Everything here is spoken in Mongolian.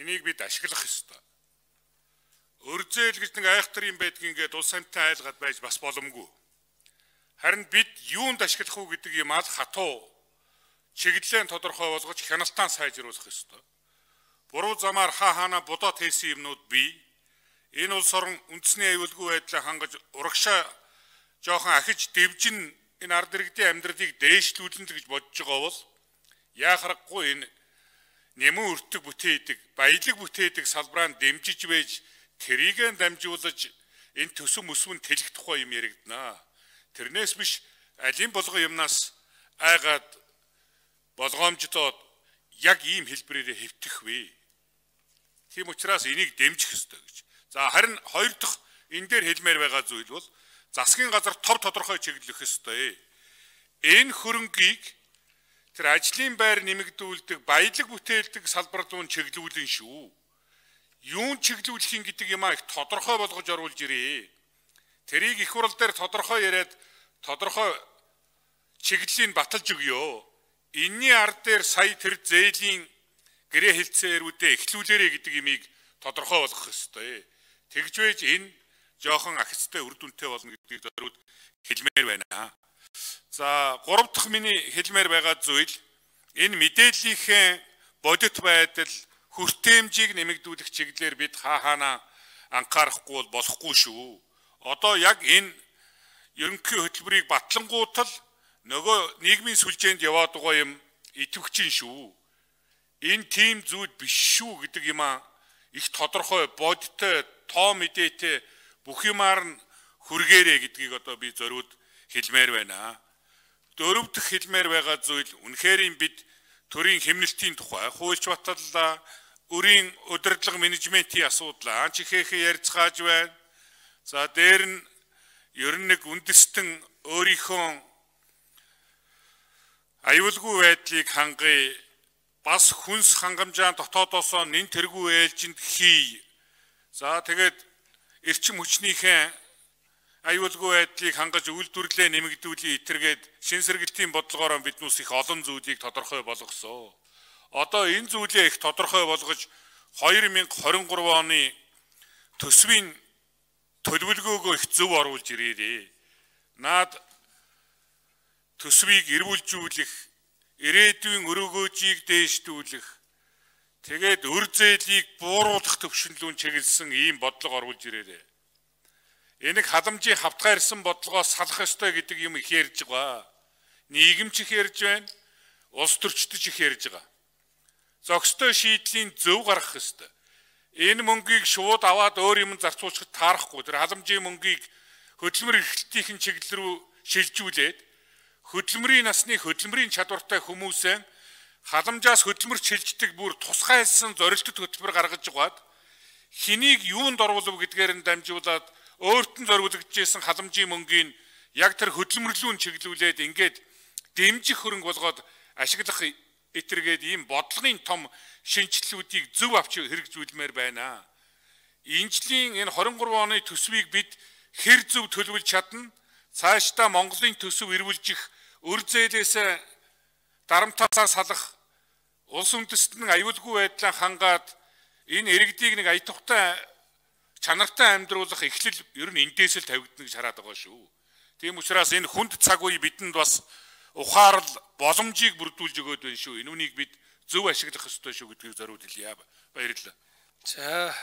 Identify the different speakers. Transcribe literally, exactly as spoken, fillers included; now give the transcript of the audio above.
Speaker 1: Энийг бид ашиглах ёстой. Өрзөөл гэж нэг айхтар юм байдгийг ингээд улс амьтан айлгаад байж бас боломгүй. Харин бид юунд ашиглах уу гэдэг юм ал хатуу чиглэлээ тодорхой болгож хяналтаа сайжруулах ёстой. Буруу замаар хаа хаана бодоод хийсэн юмнууд бий. Энэ улс орон үндэсний аюулгүй байдлаа хангаж урагшаа жоохон ахиж дэвжин энэ ард иргэдийн амьдралыг дээшлүүлэн гэж бодож байгаа бол яахарахгүй энэ нэмэн өртөг бүтээдэг, баялаг бүтээдэг салбараа дэмжиж байж тэрийг дамжуулж энэ төсөв мөсвөн тэлэх тухай юм яригдана. Тэрнээс биш алин болгон юмнаас айгаад болгоомжтоод яг ийм хэлбэрээр хэвтэх вэ. Тийм учраас энийг дэмжих ёстой гэж. За харин хоёр дахь энэ дээр хэлмээр байгаа зүйл бол засгийн газар тов тодорхой чиглэх ёстой. Энэ хөрөнгийг тэр ажлын байр нэмэгдүүлдэг, баялаг бүтээлдэг салбар руу чиглүүлэн шүү. Юун чиглүүлэх юм гэдэг юм а их тодорхой болгож оруулж ирээ. Тэрийг их хурал дээр тодорхой яриад тодорхой чиглэлийн баталж өгөө. Энийний ард дээр сая тэр зээлийн гэрээ хэлцээрүүдээ эхлүүлээрэ гэдэг имийг тодорхой болгох ёстой. Тэгж байж энэ жоохон ахицтай үр дүнтэй болно гэдгийг зориуд хэлмээр байна. За гурав дахь миний хэлмээр байгаа зүйл энэ мэдээллийнхээ бодит байдал хүртээмжийг нэмэгдүүлэх чиглэлээр бид хаа хаана анхаарахгүй бол болохгүй шүү. Одоо яг энэ ерөнхий хөтөлбөрийг батлангуутал нөгөө нийгмийн сүлжээнд яваад байгаа юм идэвхжин шүү. Энэ тийм зүйл биш шүү гэдэг юм а их тодорхой бодиттой тоо мэдээтэй бүх юмар нь хүргээрэ гэдгийг одоо би зориуд хэлмээр байна. Дөрөв дэх хэлмээр байгаа зүйл үнэхээр бид төрийн хэмнэлтийн тухай, хуульч баталлаа, өрийн удирдлага менежментийн асуудал анч ихэхэ ярьцгааж байна. За дээр нь ер нь нэг үндэстэн өөрийнхөө аюулгүй байдлыг хангая, бас хүнс хангамжаа дотоодосоо нэн тэргүй ээлжинд хий. За тэгээд эрчим хүчнийхээ аюулгүй байдлыг хангаж үйлдвэрлэлээ нэмэгдүүлээ итэргээд шин сэргэлтийн бодлогоор биднээс их олон зүйлийг тодорхой болгосон. Одоо энэ зүйлээ их тодорхой болгож хоёр мянга хорин гурав оны төсвийн төлөвлөгөөгөө их зөв оруулж ирээрээ. Наад төсвийг эрүүлжүүлэх, ирээдүйн өрөөгөөжийг дээшлүүлэх, тэгээд өр зээлийг бууруулах төвшинлүүн чиглэсэн ийм бодлого оруулж ирээрээ. Энийг халамжийн хавтгаарсан бодлогоос салах ёстой гэдэг юм их ярьж байгаа. Нийгэмч их ярьж байна, улс төрчдөж их ярьж байгаа. Зохистой шийдлийн зөв гаргах ёстой. Энэ мөнгийг шууд аваад өөр юм зарцуулахад таарахгүй. Тэр халамжийн мөнгийг хөдөлмөр эрхлэлтийн чиглэл рүү шилжүүлээд хөдөлмөрийн насны хөдөлмөрийн чадвартай хүмүүсээ халамжаас хөдөлмөр шилждэг бүр тусгайлсан зорилттой хөтөлбөр гаргаж угаад хэнийг юунд оруулав гэдгээр нь дамжуулаад өөрт нь зориулагдчихсан халамжийн мөнгийг яг тэр хөдөлмөрлүүн чиглүүлээд ингээд дэмжих хөрөнгө болгоод ашиглах итэргээд ийм бодлогын том шинжилгүүдийг зөв авч хэрэгжүүлмээр байна. Инжлийн энэ хорин гурав оны төсвийг бид хэр зөв төлөвлөж чадна, цаашдаа Монголын төсөв эрүүлжих, өр зээлээс дарамтаасаа салах, улс үндэстэн аюулгүй байдлаа хангаад энэ иргэдийг нэг аятухтай чанартай амьдруулах эхлэл ер нь эндээс л тавигдана гэж хараад байгаа шүү. Тийм учраас энэ хүнд цаг үе бидэнд бас ухаарл боломжийг бүрдүүлж өгөөд байна шүү. Энэ үнийг бид зөв ашиглах ёстой шүү гэдгийг зориуд хэлье. Баярлалаа.
Speaker 2: За